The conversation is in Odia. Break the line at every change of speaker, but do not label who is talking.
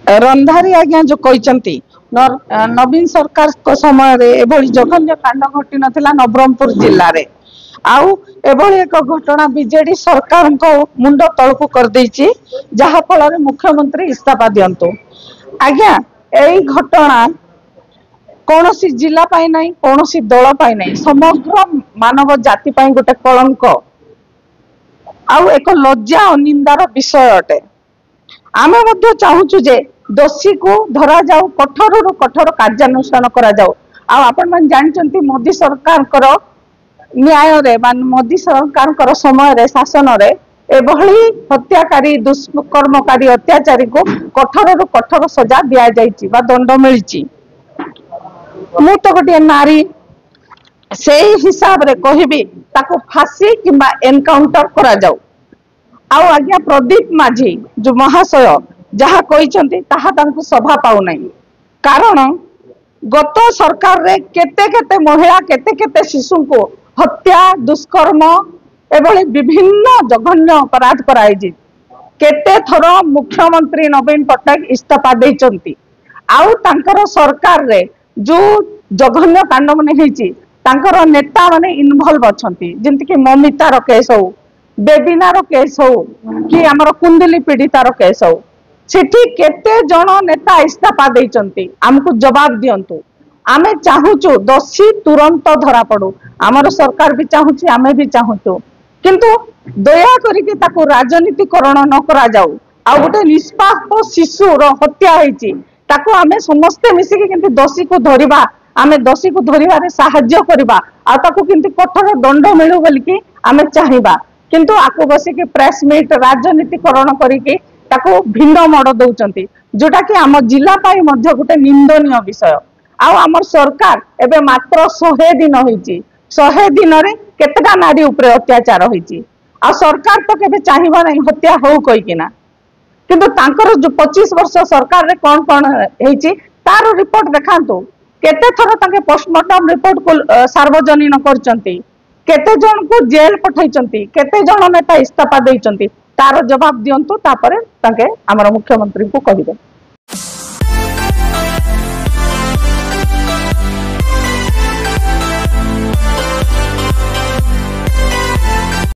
ରନ୍ଧାରୀ ଆଜ୍ଞା ଯୋଉ କହିଛନ୍ତି, ନବୀନ ସରକାରଙ୍କ ସମୟରେ ଏଭଳି ଜଘନ୍ୟ କାଣ୍ଡ ଘଟି ନଥିଲା ନବରଙ୍ଗପୁର ଜିଲ୍ଲାରେ। ଆଉ ଏଭଳି ଏକ ଘଟଣା ବିଜେଡି ସରକାରଙ୍କ ମୁଣ୍ଡ ତଳକୁ କରିଦେଇଛି, ଯାହା ଫଳରେ ମୁଖ୍ୟମନ୍ତ୍ରୀ ଇସ୍ତଫା ଦିଅନ୍ତୁ। ଆଜ୍ଞା, ଏଇ ଘଟଣା କୌଣସି ଜିଲ୍ଲା ପାଇଁ ନାହିଁ, କୌଣସି ଦଳ ପାଇଁ ନାହିଁ, ସମଗ୍ର ମାନବ ଜାତି ପାଇଁ ଗୋଟେ କଳଙ୍କ ଆଉ ଏକ ଲଜ୍ଜା ଓ ନିନ୍ଦାର ବିଷୟ ଅଟେ। ଆମେ ମଧ୍ୟ ଚାହୁଁଛୁ ଯେ ଦୋଷୀକୁ ଧରାଯାଉ, କଠୋରରୁ କଠୋର କାର୍ଯ୍ୟାନୁଷ୍ଠାନ କରାଯାଉ। ଆଉ ଆପଣମାନେ ଜାଣିଛନ୍ତି, ମୋଦି ସରକାରଙ୍କର ନ୍ୟାୟରେ ବା ମୋଦି ସରକାରଙ୍କର ସମୟରେ ଶାସନରେ ଏଭଳି ହତ୍ୟାକାରୀ, ଦୁଷ୍କର୍ମକାରୀ, ଅତ୍ୟାଚାରୀଙ୍କୁ କଠୋରରୁ କଠୋର ସଜା ଦିଆଯାଇଛି ବା ଦଣ୍ଡ ମିଳିଛି। ମୁଁ ତ ଗୋଟିଏ ନାରୀ, ସେଇ ହିସାବରେ କହିବି, ତାକୁ ଫାଶୀ କିମ୍ବା ଏନକାଉଣ୍ଟର କରାଯାଉ। ଆଉ ଆଜ୍ଞା, ପ୍ରଦୀପ ମାଝୀ ଯୋଉ ମହାଶୟ ଯାହା କହିଛନ୍ତି ତାହା ତାଙ୍କୁ ଶୋଭା ପାଉନାହିଁ। କାରଣ ଗତ ସରକାରରେ କେତେ କେତେ ମହିଳା, କେତେ କେତେ ଶିଶୁଙ୍କୁ ହତ୍ୟା, ଦୁଷ୍କର୍ମ ଏଭଳି ବିଭିନ୍ନ ଜଘନ୍ୟ ଅପରାଧ କରାଯାଇଛି। କେତେ ଥର ମୁଖ୍ୟମନ୍ତ୍ରୀ ନବୀନ ପଟ୍ଟନାୟକ ଇସ୍ତଫା ଦେଇଛନ୍ତି। ଆଉ ତାଙ୍କର ସରକାରରେ ଯୋଉ ଜଘନ୍ୟ କାଣ୍ଡ ମାନେ ହେଇଛି, ତାଙ୍କର ନେତା ମାନେ ଇନଭଲଭ ଅଛନ୍ତି, ଯେମିତିକି ମମିତାର କେସ୍ ହଉ, ବେବିନାର କେସ୍ ହଉ କି ଆମର କୁନ୍ଦୁଲି ପୀଡ଼ିତାର କେସ୍ ହଉ, ସେଠି କେତେ ଜଣ ନେତା ଇସ୍ତଫା ଦେଇଛନ୍ତି? ଆମକୁ ଜବାବ ଦିଅନ୍ତୁ। ଆମେ ଚାହୁଁଛୁ ଦୋଷୀ ତୁରନ୍ତ ଧରା ପଡୁ। ଆମର ସରକାର ବି ଚାହୁଁଛି, ଆମେ ବି ଚାହୁଁଛୁ, କିନ୍ତୁ ଦୟା କରିକି ତାକୁ ରାଜନୀତିକରଣ ନ କରାଯାଉ। ଆଉ ଗୋଟେ ନିଷ୍ପାପ ଶିଶୁର ହତ୍ୟା ହେଇଛି, ତାକୁ ଆମେ ସମସ୍ତେ ମିଶିକି କେମିତି ଦୋଷୀକୁ ଧରିବା, ଆମେ ଦୋଷୀକୁ ଧରିବାରେ ସାହାଯ୍ୟ କରିବା ଆଉ ତାକୁ କେମିତି କଠୋର ଦଣ୍ଡ ମିଳୁ ବୋଲିକି ଆମେ ଚାହିଁବା। କିନ୍ତୁ ଆକୁ ବସିକି ପ୍ରେସ ମିଟ୍ ରାଜନୀତିକରଣ କରିକି ତାକୁ ଭିନ୍ନ ମୋଡ ଦଉଛନ୍ତି, ଯୋଉଟା କି ଆମ ଜିଲ୍ଲା ପାଇଁ ମଧ୍ୟ ଗୋଟେ ନିନ୍ଦନୀୟ ବିଷୟ। ଆଉ ଆମର ସରକାର ଏବେ ମାତ୍ର 100 ଦିନ ହେଇଛି, 100 ଦିନରେ କେତେଟା ନାରୀ ଉପରେ ଅତ୍ୟାଚାର ହେଇଛି। ଆଉ ସରକାର ତ କେବେ ଚାହିଁବ ନାହିଁ ହତ୍ୟା ହଉ କହିକିନା, କିନ୍ତୁ ତାଙ୍କର ଯୋଉ 25 ବର୍ଷ ସରକାରରେ କଣ କଣ ହେଇଛି ତାର ରିପୋର୍ଟ ଦେଖାନ୍ତୁ। କେତେ ଥର ତାଙ୍କେ ପୋଷ୍ଟମର୍ଟମ ରିପୋର୍ଟକୁ ସାର୍ବଜନୀନ କରିଛନ୍ତି? କେତେ ଜଣଙ୍କୁ ଜେଲ ପଠେଇଛନ୍ତି? କେତେ ଜଣ ନେତା ଇସ୍ତଫା ଦେଇଛନ୍ତି? ତାର ଜବାବ ଦିଅନ୍ତୁ, ତାପରେ ତାଙ୍କେ ଆମର ମୁଖ୍ୟମନ୍ତ୍ରୀଙ୍କୁ କହିବେ।